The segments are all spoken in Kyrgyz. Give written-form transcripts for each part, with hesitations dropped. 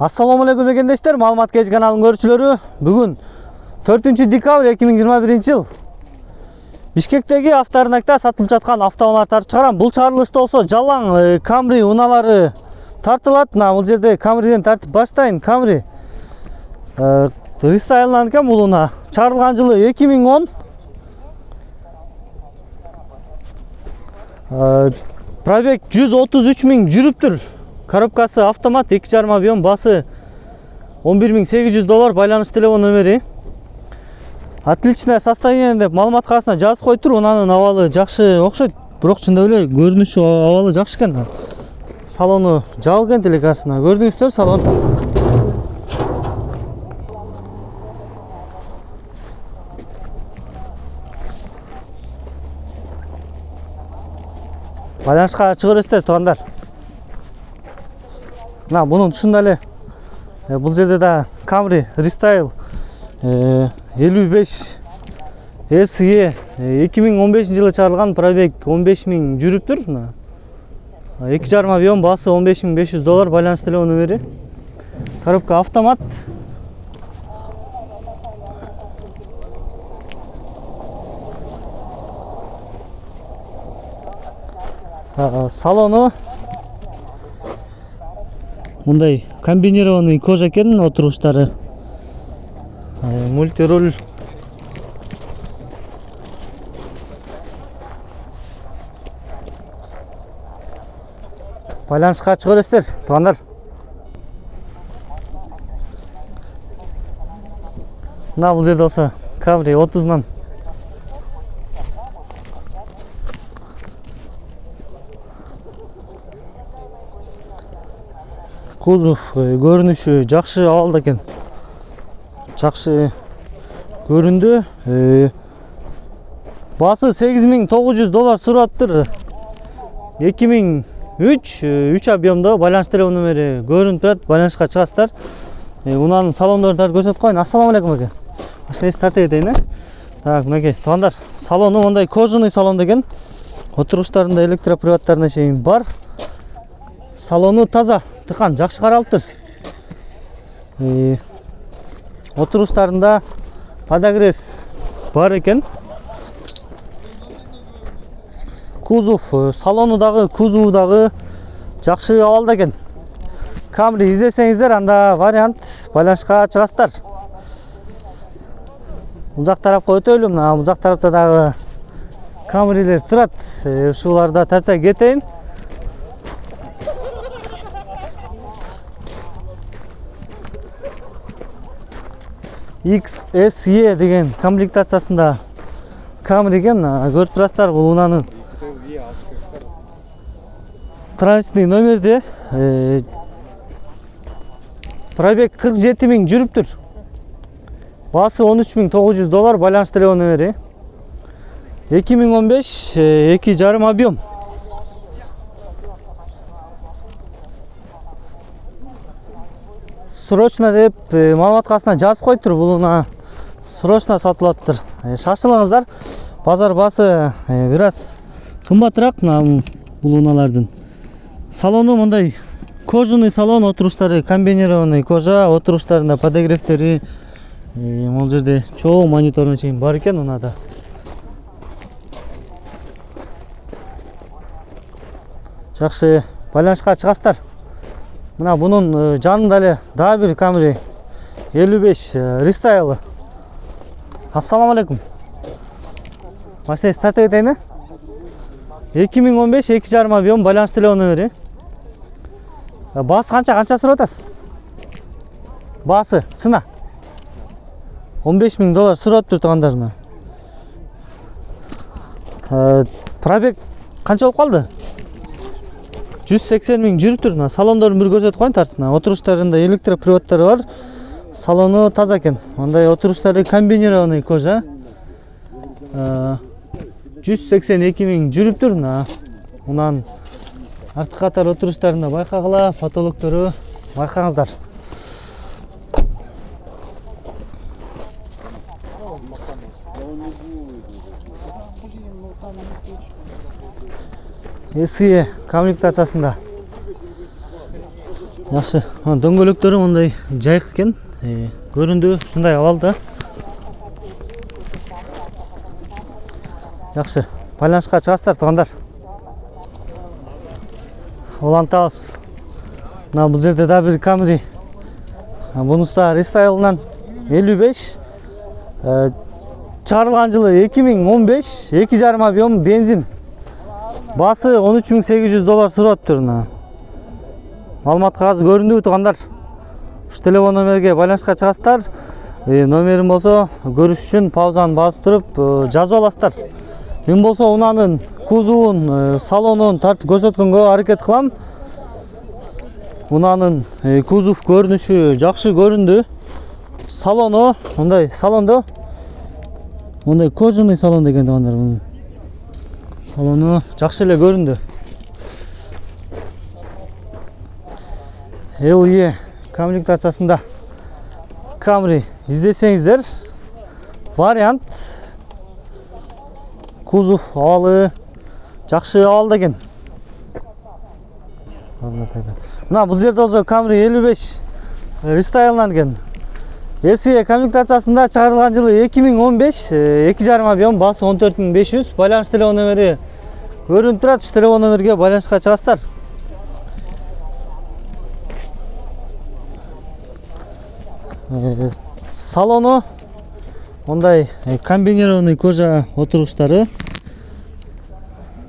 Assalamu alaikum egендештер, Маалымат Кеч каналынын көрүүчүлөрү. Бүгүн 4 декабрь 2021 жыл. Бишкектеги авторынакта сатылып жаткан автоунаалар тартып чыгарам. Бул чыгарылышта болсо жалаң Camry унаалары тартылат. Бул жерде Camry'ден тартып баштайын. Camry рестайланган экен бул унаа. Чыгарылган жылы 2010. Пробег 133 000 жүрүптүр. Коробкасы автомат, 2,5 объем, басы $11,800, байланыш телефон номери. Отличное состояние деп маалымат кагазына жазып койтур. Унанын абалы жакшы окшойт, бирок чындап эле көрүнүшү абалы жакшы экен. Салону жабылган телекасына. Көрдүңүздөр салон. Байланышка чыга бересиздер туугандар. Bunun dışında ele bu жерде да Camry Restyle 55 SE 2015 жылы чыгарылган, пробег 15 000 жүрүптүр. 2,5 объем, басы $15,500, байланыш телефон номери. Коробка автомат. Салону мындай комбинированный кожа экен, отуруштары. Мультируль. Байланышка чыга бересиздер туугандар. Бул жерде болсо Camry 30-нан кузов көрүнүшү жакшы абалда экен. Жакшы көрүндү. Басы $8,900 сураттыр. 2003 3 объемдо, байланыш телефон номери көрүнүп турат. Байланышка чыгасыздар. Унанын салондорун тартып көрсөтүп коюн. Ассаламу алейкум эке. Машинеси тартып кетейин. Так, мынакей туугандар, салону мындай кожаный салон экен. Отуруштарында электроприваттарына чейин бар. Салону таза, тыкан, жакшы каралыптыр. Отуруштарында подогрев бар экен. Кузов, салону дагы, кузову дагы жакшы абалда экен. Camry издесеңиздер, анда вариант, байланышка чыгасыздар. Бул жак тарапка өтөлүм. Бул жак тарапта дагы Camry'лер турат. Ушуларда тарта кетейин. XSE деген комплектациясында Camry экен. Көрүп турасыздар, бул унанын транзитный номерде. Пробег 47 000 жүрүптүр. Басы $13,900, байланыш телефон номери. 2015 2,5 объем. Срочно деп маалымат кагазына жазып койтур. Бул унаа срочно сатылаптыр. Шашылыңыздар. Базар басы бир аз кымбатыраак бул унаалардын. Салону мындай кожаный салон, отуруштары комбинированный кожа, отуруштарында подогревтери, бул жерде чоң мониторуна чейин бар экен унаада. Жакшы, байланышка чыгасыздар. Мына бунун жанында эле дагы бир Camry 55 Restyle. Ассаламу алейкум. Машинеси тартып кетейин. 2015 2,5 объем, байланыш телефон номери. Басы канча сурап атасыз? Басы цена $15,000 сурап тур туугандар. Пробег канча болуп калды? 180 000 жүрүптүр. Салондорун бир көрсөтүп коюн тартып. Отуруштарында электроприваттары бар. Салону таза экен. Мындай отуруштары комбинированный кожа. 182 000 жүрүптүр. Унан артка катар отуруштарында байкагыла, потолоктору байкаңыздар. SE комплектациясында Жакшы. Дөңгөлөктөрү мындай жайык экен. Көрүндү ушундай абалда. Жакшы. Байланышка чыгасыздар туугандар. Улантабыз. Мына бул жерде да бир Camry. Бунуста рестайлынан 55. Чыгарылган жылы 2015, 2,5 объем бензин. Басы $13,800 сураттыр. Маалымат кагазы көрүндүбү туугандар? Ушу телефон номерге байланышка чыгасыздар. Номерим болсо көрүш үчүн паузаны басып туруп жазып аласыздар. Мен болсо унанын кузовун, салонун тартып көрсөткөнгө аракет кылам. Унанын кузов көрүнүшү жакшы көрүндү. Салону мындай салондо мындай кожаный салон деген туугандар. Салону жакшы эле көрүндү. LE комплектациясында Camry издесеңиздер, вариант кузов абалы жакшы абалда экен. Мына бул жерде болсо Camry 55 рестайлынан экен. SE комплектациясында чыгарылган жылы 2015, 2,5 объем, басы 14,500. Байланыш телефон номери көрүнүп турат. Ушу телефон номерге байланышка чыгасыздар. Салону мындай комбинированный кожа отуруштары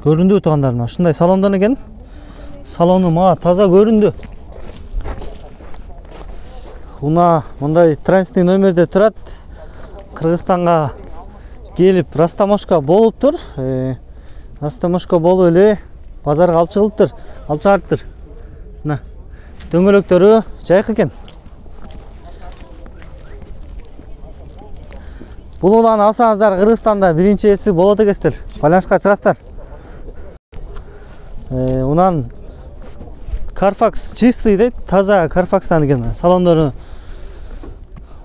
көрүндү туугандар. Ушундай салондон экен. Салону мага таза көрүндү. Уна мындай транзитный номерде турат. Кыргызстанга келип растаможка болуптур. Растаможка болуп эле базарга алып чыгылыптыр, алып чыгарыптыр. Мына дөңгөлөктөрү жайык экен. Бул унаны алсаңыздар Кыргызстанда биринчи эси болот экенсиздер. Байланышка чыгасыздар. Унан Carfax чистый дейт, таза Carfax'тан экен. Салондору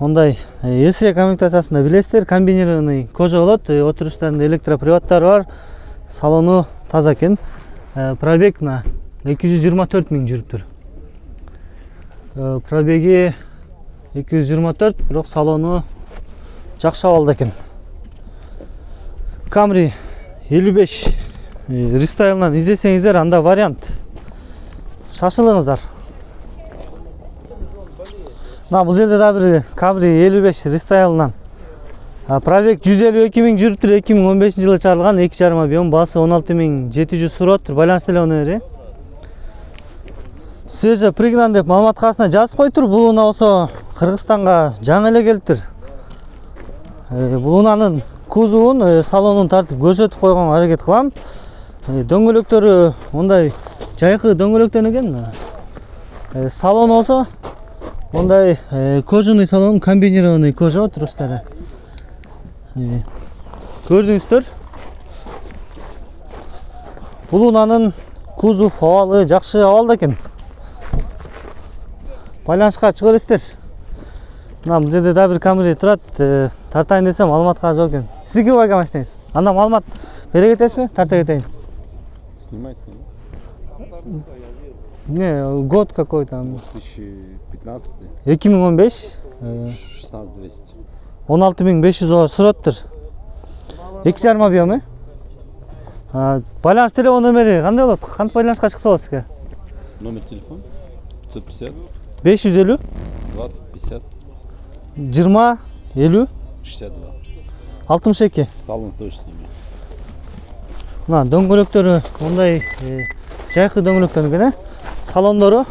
мындай SE комплектациясында билесиздер, комбинированный кожа болот, отуруштарында электроприводдор бар. Салону таза экен. Пробег на 224 миң жүрүптүр. Пробеги 224, бирок салону жакшы абалда экен. Camry 55 рестайлынан издесеңиздер, анда вариант. Шашылыңыздар. Мына бул жерде да бир Camry 55 рестайлынан. Пробег 152 миң жүрүптүр, 2015 жылы чыгарылган, 2,5 объем, басы 16,700 сураттыр. Байланыш телефон номери. Свежа пригнан деп маалымат кагазына жазып койтур. Бул уна болсо Кыргызстанга жаңы эле келиптир. Бул унанын кузовун, салонун тартып көрсөтүп койгонго аракет кылам. Дөңгөлөктөрү мындай жайкы дөңгөлөктөн экен. Салон болсо мындай кожаный салон, комбинированный кожа отуруштары. Көрдүңүздөр. Бул унанын кузов абалы жакшы абалда экен. Байланышка чыга бересиздер. Мына бул жерде да бир Camry турат. Тартайын десем маалыматка жок экен. Сиздики байка машинаңыз. Анда маалымат бере кетесизби? Тарта кетейин. Снимай. Не, год какой там? 2015. 2015. 16200. $16,500 сураттыр. 2,5 объем, Байланыш телефон номери кандай болот? Кантип байланышка чыкса болот сизге? Номер телефон 550 550 20 50 20 50 62 62. Салон тоже снимай. Мына дөңгөлөктөрү мындай жайкы дөңгөлөктөн экен, Салондору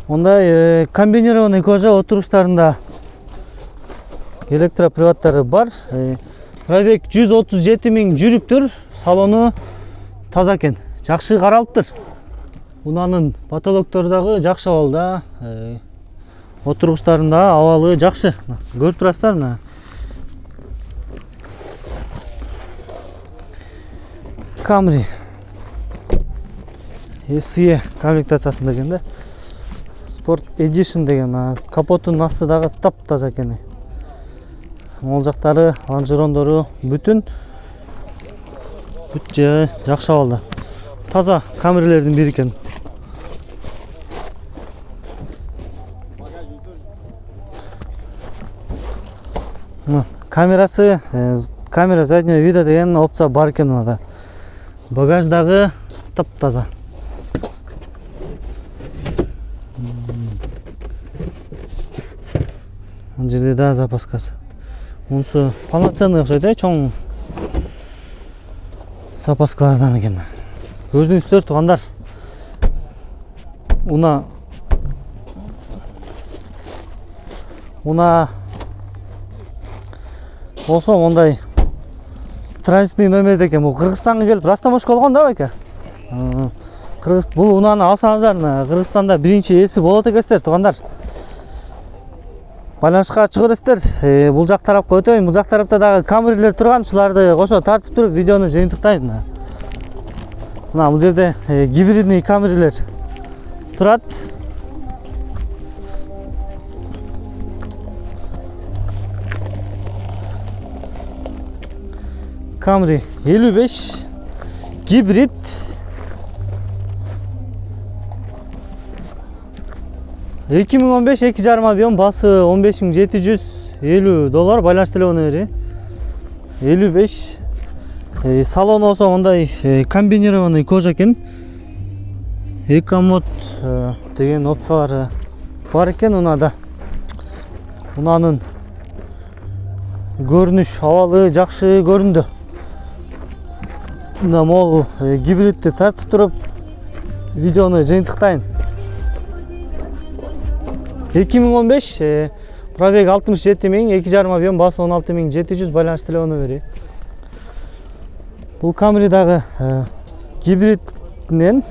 мындай комбинированный кожа отуруштарында электроприводдору бар. Пробег 137 миң жүрүптүр. Салону таза экен, жакшы каралыптыр. Унанын потолоктору дагы жакшы абалда. Отуруштарында абалы жакшы. Көрүп турасыздар мына. Camry SE комплектациясында экен да. Sport Edition деген, капотунун асты дагы таптаза экен. Ол жактары, лонжерондору бүтүн жакшы абалда. Таза Camry'лердин бири экен. Камерасы, камера заднего вида деген опция бар экен мында. Багаждагы таптаза. Мына жерде да запаскасы. Мунусу полноценный окшойт, чоң запаскалардан экен. Көрдүңүздөр туугандар. Уна болсо мондай транзитный номерде экен. Бул Кыргызстанга келип растамашка болгон да байке. Бул унаны алсаңыздар, Кыргызстанда биринчи ээси болот экенсиздер туугандар. Байланышка чыгырсыздар. Бул жак тарапка өтөйүн. Бул жак тарапта дагы камерлер турган, шуларды кошо тартып туруп видеону жыйынтыктайм. Мына бул жерде гибридный камерлер турат. Camry 55 гибрид. $2015 2,5 объем, басы $15,750, байланыш телефону бери 55. Салон болсо мындай комбинированный кожа экен. Экомод деген опциялары бар экен унада. Унанын көрүнүш абалы жакшы көрүндү. Мына могул гибридти тартып туруп видеону жыйынтыктайын. 2015, пробег 67 000, 2,5 объем, басы 16,700, байланыш телефону бери. Бул Camry'дагы гибриднен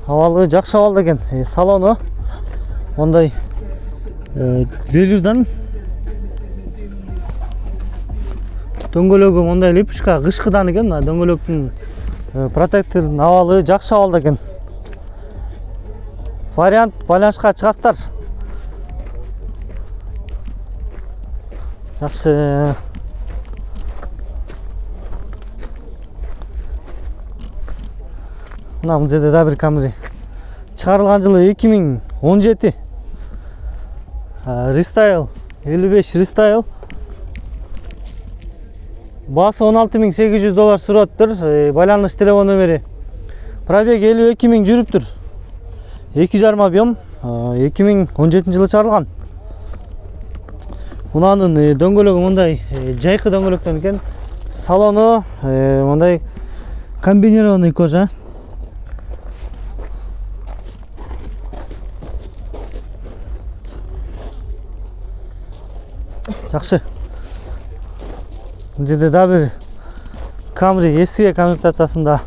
абалы жакшы абалда экен. Салону мондай велюрдан, дөңгөлөгү мондай липучка кышкыдан экен. Дөңгөлөктүн протектордун абалы жакшы абалда экен. Вариант байланышка чыгасыздар. Жакшы. Мына бул жерде да бир Camry. Чыгарылган жылы 2017. Restyle 55 Restyle. Басы $16,800 сураттыр. Байланыш телефону бери. Пробег 52 000 жүрүптүр. 2,5 объем, 2017 жылы чыгарылган. Унанын дөңгөлөгү мындай жайкы дөңгөлөктөн экен. Салону мындай комбинированный кожа. Жакшы. Бул жерде да бир Camry SE комплектациясында.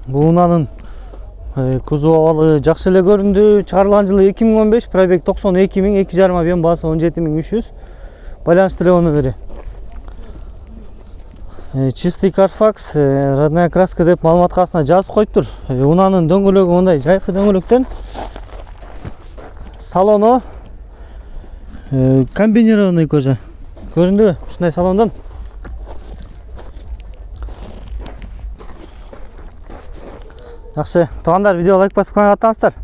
Бул унанын кузов абалы жакшы эле көрүндү. Чыгарылган жылы 2015, пробег 92 000, 2,5 объем, басы 17,300, байланыш телефону бери. Чистый Carfax, родная краска деп маалыматтын астына жазып коюптур. Унанын дөңгөлөгү мындай жайкы дөңгөлөктөн. Салону комбинированный кожа. Көрүндүбү? Ушундай салондон. Жакшы, туугандар, видео лайк басып коюп атаңыздар.